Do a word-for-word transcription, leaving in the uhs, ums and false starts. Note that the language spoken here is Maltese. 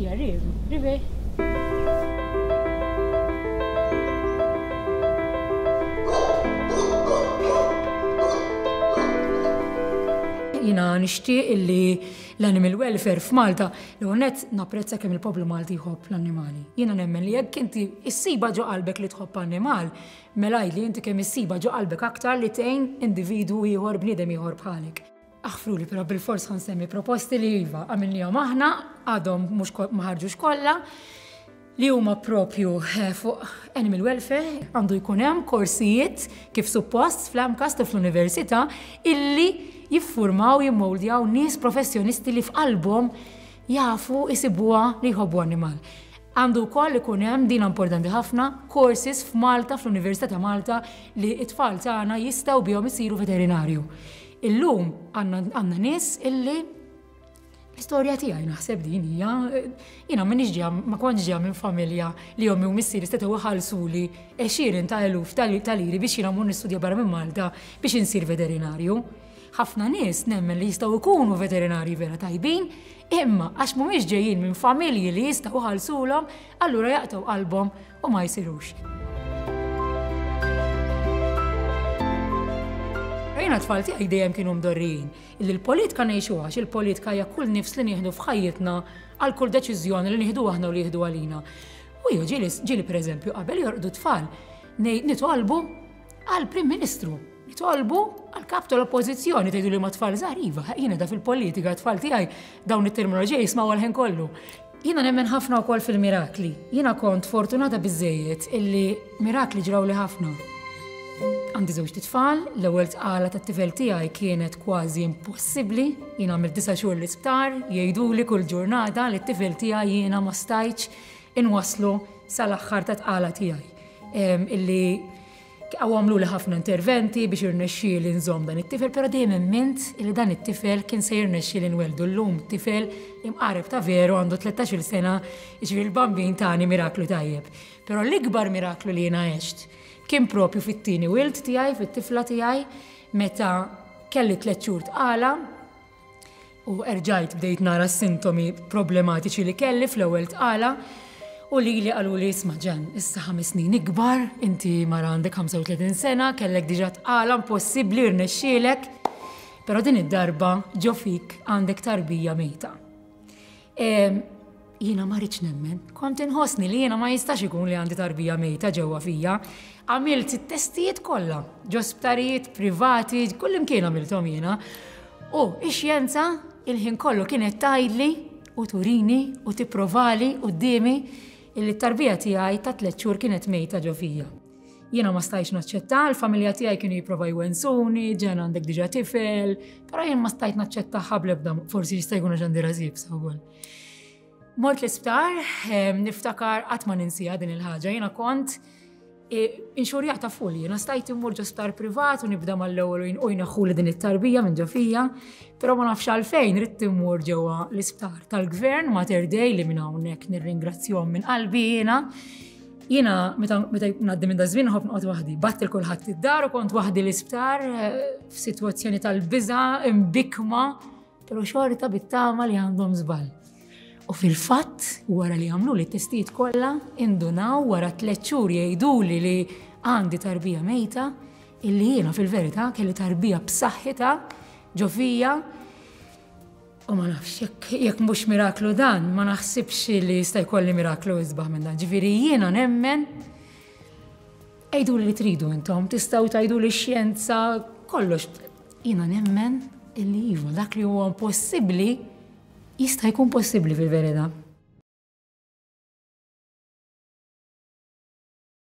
Ejja, Riv, Rivi. Jiena nixtieq illi l-animal welfare f'Malta, l nett napprezza kemm il-poplu Malti jħobb l-annimali. Jiena nemmen li jekk inti issiba ġo qalbek li tħobb annimal, mela li inti kemm issiba ġo qalbek aktar li tgħin individwu ieħor, bniedem ieħor bħalek. Aħfruli, però bil-fors ħa nsemmi proposti li iva għamilnihom aħna, għadhom mhux ma ħarġux kollha, li huma propju fuq animal welfare. Għandu jkun hemm korsijiet kif suppost fl-M CAST u fl-università illi jiffurmaw, jimmoldjaw nies professjonisti li f'qalbhom jafu jisibuha li jħobbu animal. Għandu wkoll ikun hemm, din importanti ħafna, courses f'Malta, fl-Università ta' Malta, li it-tfal tagħna jistgħu bihom isiru veterinarju. Illum għandna nies illi l-istorja tiegħi naħseb din hija, jiena m'iniex ġejja, ma kontx ġejja minn familja li ommi u missieri setgħu iħallsuli għexieren ta' eluf ta' liri biex jiena mmur nistudja barra minn Malta biex insir veterinarju. Ħafna nies nemmen li jistgħu jkunu veterinarji vera tajbin, imma għax mhumiex ġejjin minn familji li jistgħu iħallsulhom, allura jaqtgħu qalbhom u ma jsirux. Jiena tfal tiegħi dejjem kienu mdorrijin illi l-politika ngħixuha, għax il-politika hija kull nifs li nieħdu f'ħajjitna, għal kull deċiżjoni li nieħdu aħna u li jieħdu għalina. U jew ġieli ġieli pereżempju qabel jorqdu tfal nitolbu għal Prim Ministru, nitolbu għal kap tal-Oppożizzjoni. Tgħidu li ma tfal żgħar, iva, jiena da fil-politika tfal tiegħi dawn it-terminoloġija jismgħu għal ħin kollu. Jiena nemmen ħafna wkoll fil-mirakli. Jiena kont fortunata biżejjed illi mirakli ġrawli ħafna. Għandi żewġ tfal, l-ewwel tqala tat-tifel tiegħi kienet kważi impossibbli, jiena għamilt disa' xhur l-isptar, jgħiduli kull ġurnata li t-tifel tiegħi jiena ma stajtx inwaslu sal-aħħar ta' tqala tiegħi. Illi għamlu li ħafna interventi biex irnexxieli nżomm dan it-tifel, però dejjem emmint illi dan it-tifel kien se jirnexxieli nweldu. Llum tifel imqareb ta' veru, għandu tlettax-il sena, jiġifieri l-Bambin tani miraklu tajjeb. Però l-ikbar miraklu li jiena għext kien propju fit-tieni wild tiegħi, fit-tifla tiegħi, meta kelli tliet xhur tqala u erġajt bdejt nara sintomi problematiċi li kelli fl-ewwel tqala u li li qalu li, "Isma' Ġan, issa ħames snin ikbar, inti mara għandek ħamsa u tletin sena, kellek diġà tqala, impossibbli rnexxielek, però din id-darba ġo fik għandek tarbija mejta." Jiena ma rridx nemmen, kont inħossni li jiena ma jistax ikun li għandi tarbija mejta ġewwa fija. Għamilt it-testijiet kollha, ġo sptarijiet privati, kull imkien għamilthom jiena. U ix-xjenza il-ħin kollu kienet tgħidli u turini u tipprovali quddiemi illi t-tarbija tiegħi ta' tliet xhur kienet mejta ġo fija. Jiena ma stajtx naċċetta, l-familja tiegħi kienu jipprova jwensuni, "Ġen, għandek diġà tifel", però jien ma stajt naċċetta bl-ebda, forsi jista' jkun għax għandi rasi iebsa wkoll. Mort l-isptar, niftakar, qatt ma ninsija din il-ħaġa, jiena kont inxurjata full, jiena stajt immur ġo sptar privat u nibda mal-ewwel u jneħħuli din it-tarbija minn ġo fija, però ma nafx għalfejn ridt immur ġewwa l-isptar tal-gvern, Mater Dei, li minn hawnhekk nirringrazzjahom minn qalbi jiena. Jiena meta ngħaddi minn daż-żmien nħobb noqgħod waħdi. Bgħatt lil kulħadd id-dar u kont waħdi l-isptar f'sitwazzjoni tal-biża', imbikma, però xorta bit-tama li għandhom żball. U fil-fatt, wara li għamlu li testijiet kollha, indunaw wara tliet xhur jgħiduli li għandi tarbija mejta, illi jiena fil-verità kelli tarbija b'saħħitha ġo fija. U ma nafx, jekk jekk mhux miraklu dan, ma naħsibx li jista' jkolli miraklu isbaħ minn dan. Ġifieri jiena nemmen, għidu li tridu intom, tistgħu tgħidu li xjenza, kollox. Jiena nemmen illi iva, dak li huwa impossibbli jista' jkun possibbli fil-verità.